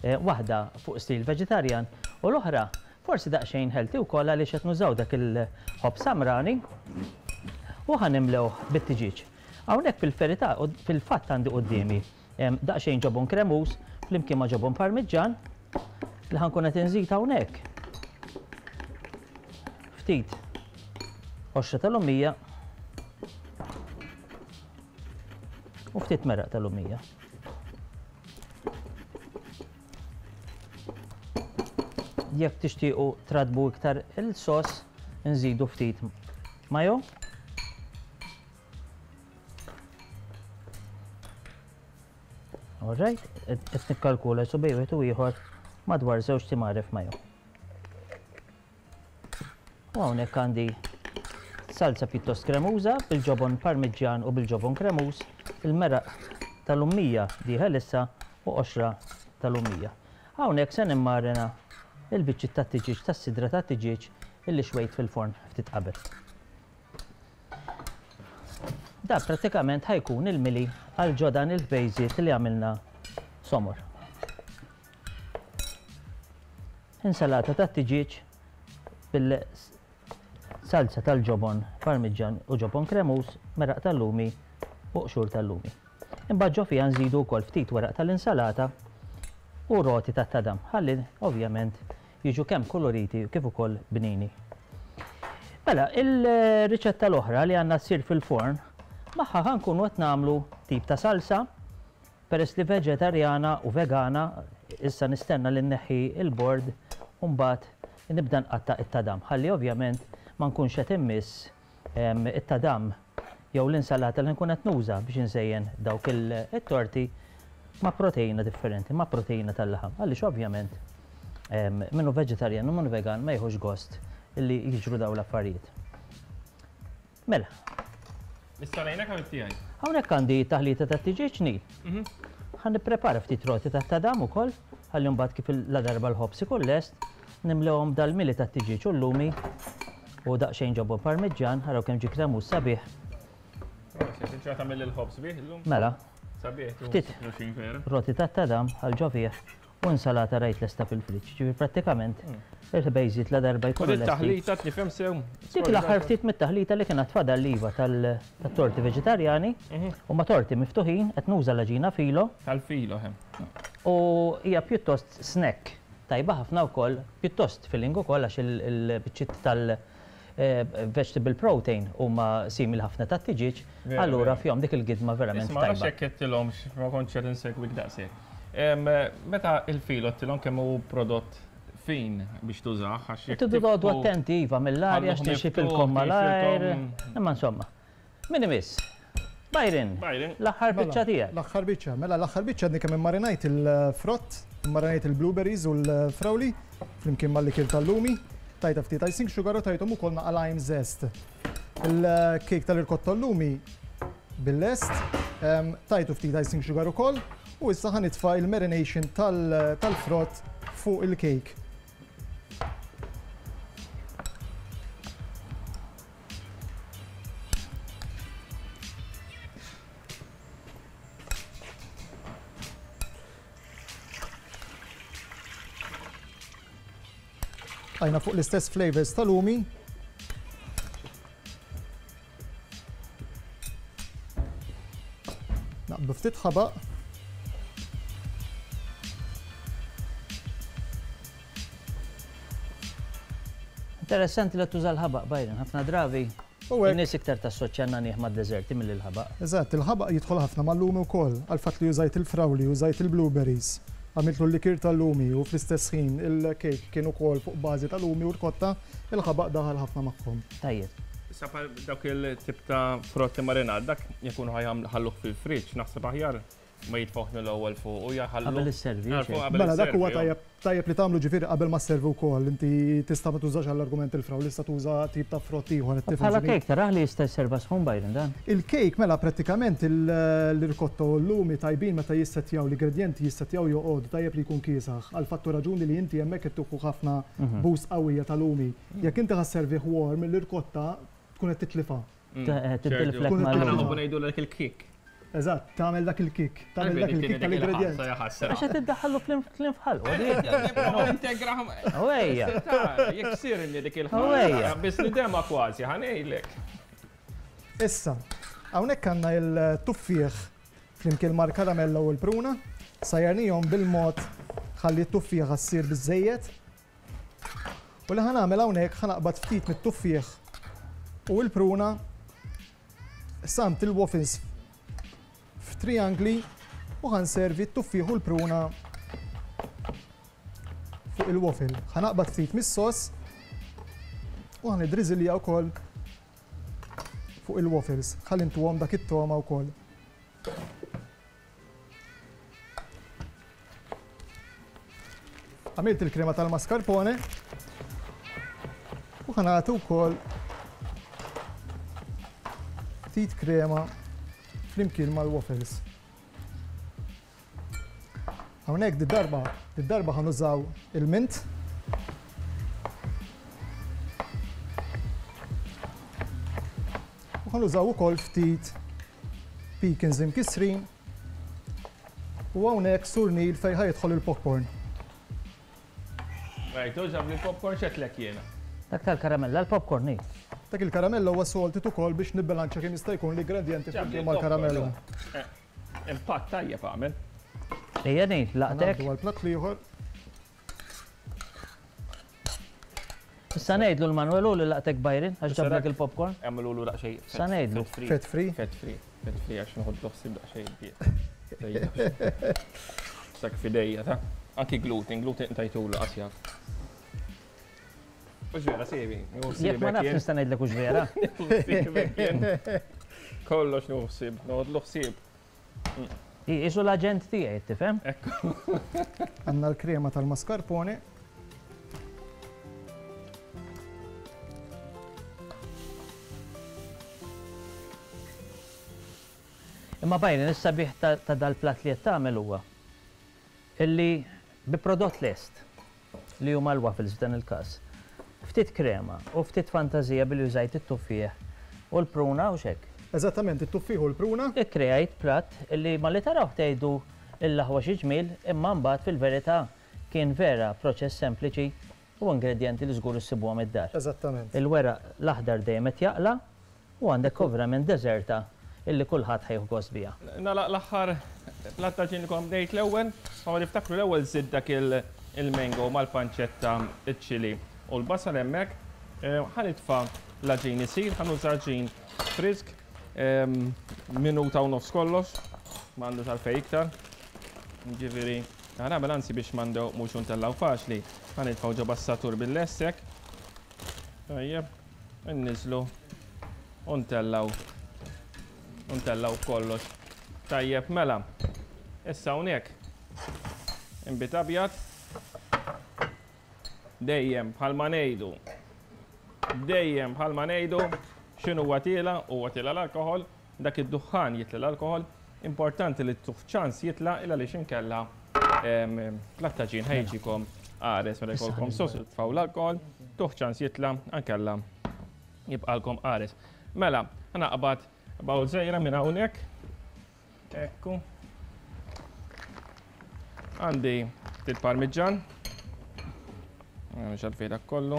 waħda fuq stil veġitarjan u l-oħra forsi daqsxejn healthy wkoll għaliex qed nużaw dak il-ħobż samrani u ħa nimlewh bit-tiġieġ. Hawnhekk fil-verità fil-fatt għandi quddiemi daqsxejn ġobon kremuż flimkien ma' ġobon parmiġġan li ħa nkun qed inżid hawnhekk. Ftit qoxra tal-lumija u ftit meraq tal-lumija. Jekk tixtiequ tratbu iktar il-sos, nżidu ftit mayo. Alright, qed nikkalkula su bej wieħed u ieħor madwar żewġ timaref mayo. U hawnhekk għandi salsa pjuttost kremuża bil-ġobon parmiġġjan u bil-ġobon kremuż, il-meraq tal-lummija dieħel issa u qoxra tal-lummija. Hawnhekk se nimmarina il-biċċiet tat-tiġieġ tas-sidra tat-tiġieġ illi xwejt fil-forn ftit qabel. Da prattikament ħa jkun il-mili għal ġo dan il-ħbejżiet li għamilna somor. Insalata tat-tiġieġ bil-salza tal-ġobon parmiġġan u ġobon kremuż, meraq tal-lumi u qxur tal-lumi. Imbagħad ġo fiha nżidu wkoll ftit weraq tal-insalata u roti tat-tadam ħalli ovvjament jiġu kemm kuluriti kif ukoll bnini. Mela, il-riċetta l-oħra li għandna ssir fil-forn, magħha ħa nkunu qed nagħmlu tip ta' salsa, peress li veġetarjana u vegana, issa nistenna li nneħħi l-bord u mbagħad nibda nqatta' it-tadam ħalli ovvjament ma nkunx qed immiss it-tadam jew l-insalata li nkun qed nuża biex inżejjen dawk it-torti ma' proteina differenti, ma' proteina tal-laħam. Għaliex ovvjament min hu veġetarjan u min hu vegan ma jieħux gost li jiġru dawn l-affarijiet. Mela. Nista' ngħinek ħabib tiegħi? Hawnhekk għandi taħlita ta' tiġieġ Neil. Ħa nipprepara ftit roti tat-tadam ukoll ħalli mbagħad kif ladarba l-ħobż ikun lest Nimlewhom b'dal-mili tat-tiġieġ u l-lumi u daqsxejn ġobon parmiġġan, araw kemm ġie kremuż sabiħ. Proset, inti tagħmel il-ħobż bih illum? Mela. Sabiħ, Ftit roti tat-tadam għal ġo fih u insalata rajt lesta fil-friġġ. Ġifieri prattikament il-ħbejżiet la darba jkunu lesti. Taħlita tifhem sew. Dik l-aħħar ftit mit-taħlita li kien għad fadal iva tat-torti veġitarjani huma torti miftuħin qed nuża l-għaġina filo. Tal-filo, hemm. U hija pjuttost snack. Tajba ħafna wkoll, pjuttost filling ukoll għax il-biċċiet tal-vegetable protein huma simili ħafna tat-tiġieġ, allura fihom dik il-gidma verament tajba. Isma' nafx jekk għedtilhomx, ma kontx qed insegwik daqshekk. Meta il-filo għedtilhom kemm hu prodott fin biex tużah għax jekk. Tridu toqgħodu attenti iva mill-arja għax tixxifilkom malajr. Imma insomma. Min imiss? Byron. Byron. L-aħħar biċċa tiegħek. L-aħħar biċċa. Mela l-aħħar biċċa għadni kemm immarinajt il-frott, immarinajt il-blueberries u l-frawli flimkien mal-likir tal-lumi, tajtha ftit icing sugar u tajthom ukoll naqa' lime zest. Il-kejk tal-irkotta l-lumi bil-lest, tajtu ftit icing sugar ukoll u issa ħa nitfa' il-marination tal-frott fuq il-kejk. Għajna fuq l-istess flavors tal-lumi. Naqbdu ftit ħabaq. Interessanti li tuża l-ħabaq, Byron, ħafna drabi in-nies iktar tassoċja n-nagħniegħ mad-deżerti milli l-ħabaq. Eżatt, il-ħabaq jidħol ħafna mal-lumi wkoll, għall-fatt li użajt il-frawli, użajt il-blueberries, għamiltlu l-likier tal-lumi u fl-istess ħin il-kejk kien ukoll fuq bażi ta' lumi u rkotta, il-ħabaq daħal ħafna magħhom. Tajjeb. Issa bħal dawk il-tip ta' frott immarinat, dak jekk hu ħa jħalluh fil-friġġ, naħseb aħjar. ma jitfgħuh mill-ewwel fuq u jaħallu. Qabel isservi, Għarfu xejn. qabel Mela dak huwa isservi, tajjeb tajjeb li tagħmlu ġifieri qabel ma sservi wkoll. Inti tista' ma tużax għall-argument il-frawli, tista' tuża tip ta' frott ieħor qed tifhem Bħala x'inhi. cake tarah li jista' jserva sħun Byron dan. Il-cake mela prattikament l-irkotta u l-lumi tajbin meta jissettjaw l-ingredjenti jissettjaw joqogħdu tajjeb li jkun kiesaħ għal fattu raġuni li inti hemmhekk qed tieħu ħafna boost qawwija ta' lumi. Jekk inti ħa sservih warm, l-irkotta tkun qed titlifha. Titliflek Tkun mal Aħna nħobbu ngħidu dak il-kick. Eżatt, tagħmel dak il-kick, tagħmel dak il-kick tal-ingredjent. Għax qed iddaħħallu kliem f'ħalqu. Integra. Ejja. Jekk sirni dik Ejja. il-ħaġa. Biss nidema kważi, ħa ngħidlek. Issa, hawnhekk għandna il-tuffieħ flimkien mal-karamella u l-pruna, sajjarnihom bil-mod ħalli t-tuffieħ ssir biżejjed. U li ħa nagħmel hawnhekk ħa naqbad ftit mit-tuffieħ u l-pruna samt il-waffles f'triangli u ħa nservi t-tuffieħ u l-pruna fuq il-waffle. Ħa naqbad ftit mis-sos u ħa nidriżilja wkoll fuq il-waffles. Ħalli ntuhom dak it-toma wkoll. Għamilt il-krema tal-mascarpone u ħa nagħti wkoll ftit krema flimkien mal-waffles. Hawnhekk di darba, di darba ħa nużaw il-mint. U ħa nużaw ukoll ftit pecans imkissrin u hawnhekk surnil fejn ħa jidħol il-popcorn. Rajtu, ġab li popcorn xetlek jiena. Dak tal-karamella, l-popcorn ni. Dak il-karamella huwa salted ukoll biex nibbilanċa kemm jista' jkun l-ingredjenti Ġab li flimkien mal-karamella. Impatt tajjeb għamel. Ejja ni, laqtek. Ngħaddu għall-platt l-ieħor. Issa ngħidlu l-Manuelu li laqtek Byron għax ġablek dak- il-popcorn. Għamlu l daqsxejn. Sa ngħidlu. Fat free. Fat free. Fat free. Fat free għax nħoddu ħsieb daqsxejn diet. Sak fidejja ta' anki gluten, gluten tajtulu qasja. Ux vera, sebi. Jekk ma nafx nista' ngħidlek hux vera. Kollox nuħsib, noħodlu ħsieb. Isu l-aġent tiegħi, tifhem? Ekku. Għandna l-krema tal-mascarpone. Imma Byron, is-sabiħ ta' dal-platt li qed tagħmel huwa illi bi prodott lest li huma l-waffles f'dan il-każ. Ftit krema u ftit fantażija billi użajt it-tuffieħ u l-pruna u xek. Eżattament, it-tuffieħ u l-pruna. Ikkreajt platt illi ma li taraw tgħidu l-aħwa xi ġmiel, imma mbagħad fil-verità kien vera proċess sempliċi u ingredjenti li żgur issibuhom id-dar. Eżattament. Il-weraq l-aħdar dejjem qed jaqla u għandek ovvjament deżerta illi kulħadd ħa jieħu gost biha. Nala l-aħħar platt ta' ġin li kom bdejt l-ewwel, ma niftakru l-ewwel żid dak il-mango mal-panċetta, iċ-ċili u l-basal hemmhekk. Ħa nitfa' l-għaġin isir, ħa nuża għaġin frisk, minuta u nofs kollox, m'għandux għalfejn iktar. Ġifieri, ħa nagħmel anzi biex m'għandu mhux untellaw faċli, ħa nitfgħu ġo bassatur bil-lessek. Tajjeb, inniżlu u ntellaw. U ntellaw kollox. Tajjeb, mela. Issa hawnhekk. Inbid abjad. Dejjem bħalma ngħidu. Dejjem bħalma ngħidu x'inhu huwa tiela, huwa tiela l-alkoħol, dak id-duħħan jitla l-alkoħol. Importanti li tuħ ċans jitla illa li xinkella plattaġin ħajġikom qares meta jkollkom sos tfaw l-alkoħol, tuħ ċans jitla ankella jibqalkom qares. Mela, naqbad bawl żgħira minn hawnhekk. Ekku. Għandi ftit parmiġġan. Mhux għalfejn dak kollu.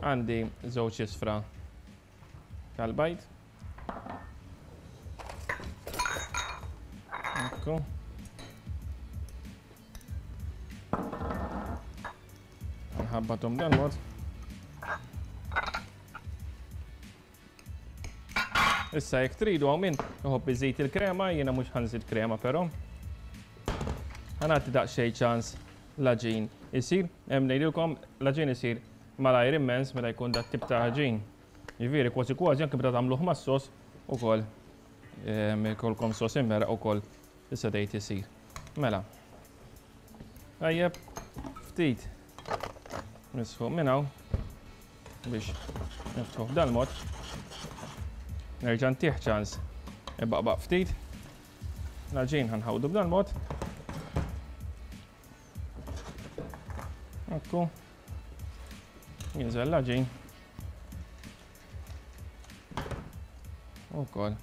Għandi żewġ isfra tal-bajd. Ekku. Nħabbathom dan mod. Issa jekk tridu hawn min iħobb iżid il-krema, jiena mhux ħa nżid krema però. Ħa nagħti daqsxejn ċans l-għaġin isir. Hemm ngħidilkom l-għaġin isir malajr immens meta jkun dat tip ta' għaġin. Jiġifieri kważi kważi anke meta tagħmluh mas-sos ukoll. Ikolkom sos immeraq ukoll tista' tgħid isir. Mela. Tajjeb, ftit nisħu minn hawn biex niftħu b'dal-mod. Nerġa' ntih ċans ibaqbaq ftit. L-għaġin ħanħawdu b'dal-mod. Ekku. Jinżel l-għaġin. Ukoll.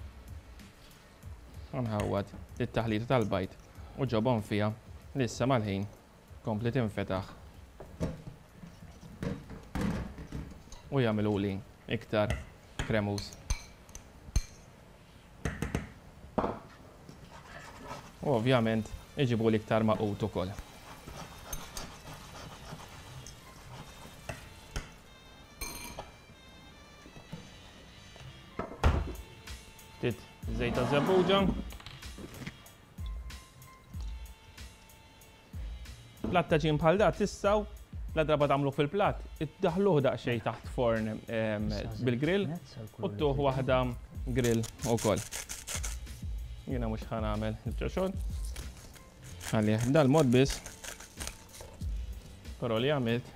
Nħawwad it-taħlita tal-bajd u ġobon fiha li issa mal-ħin kompli tinfetaħ u jagħmiluli iktar kremuż. U ovvjament iġibuli iktar magħqud ukoll. Ftit żejt ta' żebbuġa. Platt ta' ġin bħal da tistgħu la darba tagħmluh fil-platt, iddaħluh daqsxejn taħt forn bil-grill u tuh waħda grill ukoll. Jiena mhux ħa nagħmel il-biċċa xogħol. Għalih b'dal-mod biss. Però li għamilt,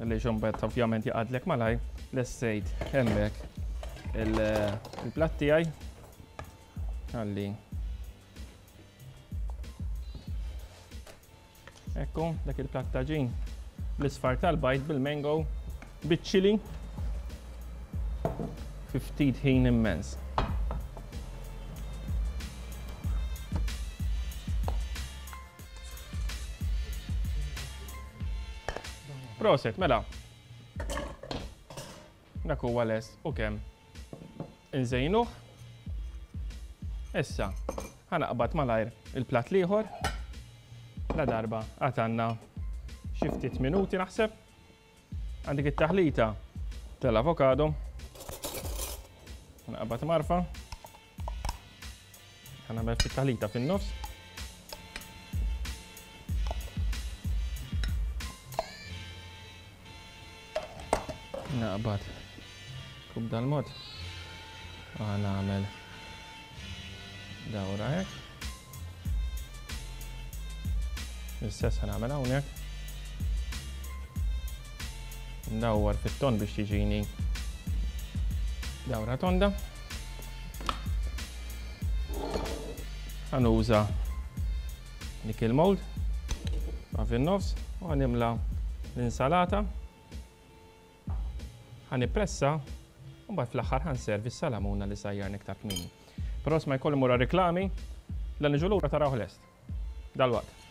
li xombat ovvjament jaqadlek malaj, lessejt hemmhekk il-platt tiegħi. Għalli. Ekku, dak il-platt ta' ġin bl-isfar tal-bajd bil-mango, biċ-ċili, fi ftit ħin immens. Proset, mela. Dak huwa lest u kemm inżejnuh. Issa, ħanaqbad malajr il-platt l-ieħor. La darba għatanna xi ftit minuti naħseb. Għandek it-taħlita tal-avokado. Naqbad marfa. Ħanagħmel ftit taħlita fin-nofs. Naqbad kub dal-mod. Nagħmel dawra hekk. L-istess ħanagħmel hawnhekk. Ndawwar fit-ton biex tiġini dawra tonda. Ħanuża dik il-mold ma' fin-nofs u ħanimla l-insalata. Ħa nippressa u mbagħad fl-aħħar ħa nservi s-salamuna li sajjarna iktar kmieni. Però ma jkolli mura reklami, la niġu lura tarawh lest. Dalwaqt.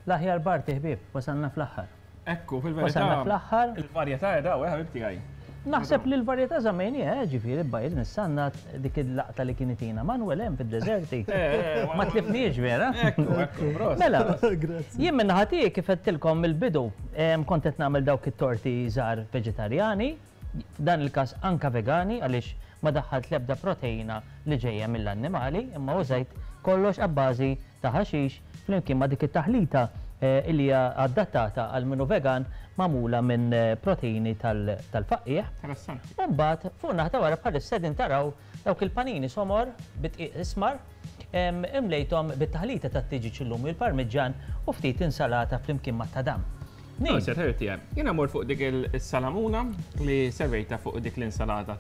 L-aħjar parti ħbieb, wasalna fl-aħħar. Ekku, fil-verità. Wasalna fl-aħħar. Il-varjetà daw, eh, ħabib tiegħi. Naħseb li l-varjetà żammejniha, eh, ġifieri bajr nissanna dik il-laqta li kien itina Manuel hemm fid-deżerti. Eh, eh, Ma tlifniex vera. Ekku, ekku, Mela, jien minn naħa tiegħi kif għedtilkom mill-bidu, kont qed nagħmel dawk it-torti żgħar veġitarjani, f'dan il-każ anka vegani għaliex ma daħħalt l-ebda proteina li ġejja mill-annimali, imma użajt kollox abbażi ta' ħaxix flimkien ma' dik it-taħlita li hija adattata għal min hu vegan magħmula minn proteini tal-faqqiegħ. Interessanti. U mbagħad fuq naħa ta' wara bħalissa qegħdin taraw dawk il-panini somor bid-dqiq ismar imlejthom bit-taħlita tat-tiġieġ illum u l-parmiġġan u ftit insalata flimkien mat-tadam. Neil. Proset, ħabib tiegħi. Jiena mmur fuq dik is-salamuna li servejtha fuq dik l-insalata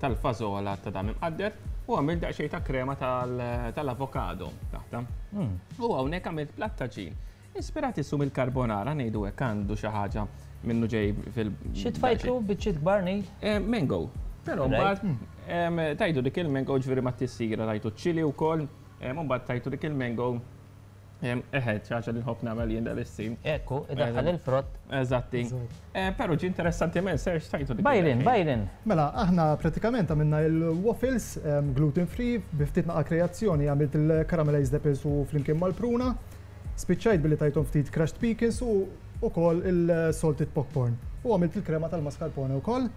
tal-fażola ta' dam imqadded u għamilt daqsxejn ta' krema tal-avokado taħta. Hmm. U hawnhekk għamilt platt ta' ġin. Ispirat issu mill-carbonara ngħidu hekk għandu xi ħaġa minnu ġej fil. Xi tfajtlu biċċiet kbar Neil? Eh, mango. Però mbagħad hmm. tajtu dik il-mango ġifieri ma tissira tajtu ċili wkoll, mbagħad tajtu dik il-mango Eħe, ċaċa li nħobb nagħmel jien dal-istim. Ekku, idaħħal il-frott. Eżatti. Eh, però ġi interessanti men, Serge, tajtu dik. Byron, Byron. Mela, aħna pratikament għamilna il-waffles gluten free, bi ftit naqa kreazzjoni għamilt il-caramelized apples u flimkien mal-pruna. Spiċċajt billi tajthom ftit crushed pecans u ukoll il-salted popcorn. U għamilt il-krema tal-mascarpone ukoll.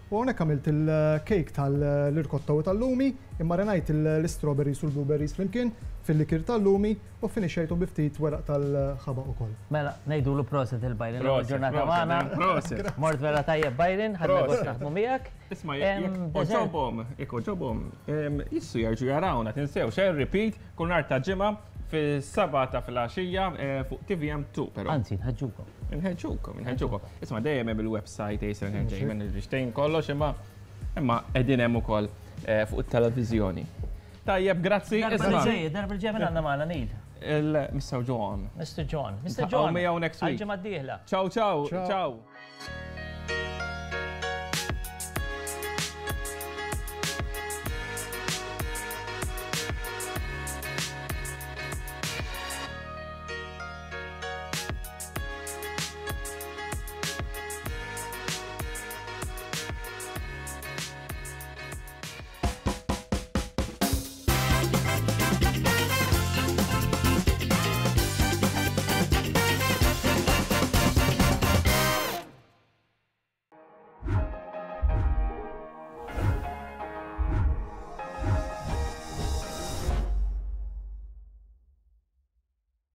U hawnhekk għamilt il-cake tal-irkotta u tal-lumi, immarinajt l-istrawberries u l-blueberries flimkien fil-likir tal-lumi u ffinixxejthom bi ftit weraq tal-ħabaq ukoll. Mela, ngħidulu proset il Byron l-ewwel ġurnata magħna. Proset. Mort vera tajjeb Byron, ħadna gost naħdmu miegħek. Isma' jekk oġobhom, jekk oġobhom, jissu jerġgħu jarawna, tinsewx, eh, repeat, kull nhar ta' ġimgħa fis-sebgħa ta' filgħaxija fuq TVM2 però. Anzi, nħeġġukom. Nħeġġukom, nħeġġukom. Isma' dejjem hemm il-website Ace Entertainment biex tgħin kollox imma imma qegħdin hemm ukoll eh, fuq it-televiżjoni. Tajjeb, grazzi. Darba ġej, darba ġej minn għandna magħna Neil. Il-Mr. John. Mr. John. Mr. John. Miegħu next week. Għal-ġimgħa d-dieħla. Ciao, ciao, ciao.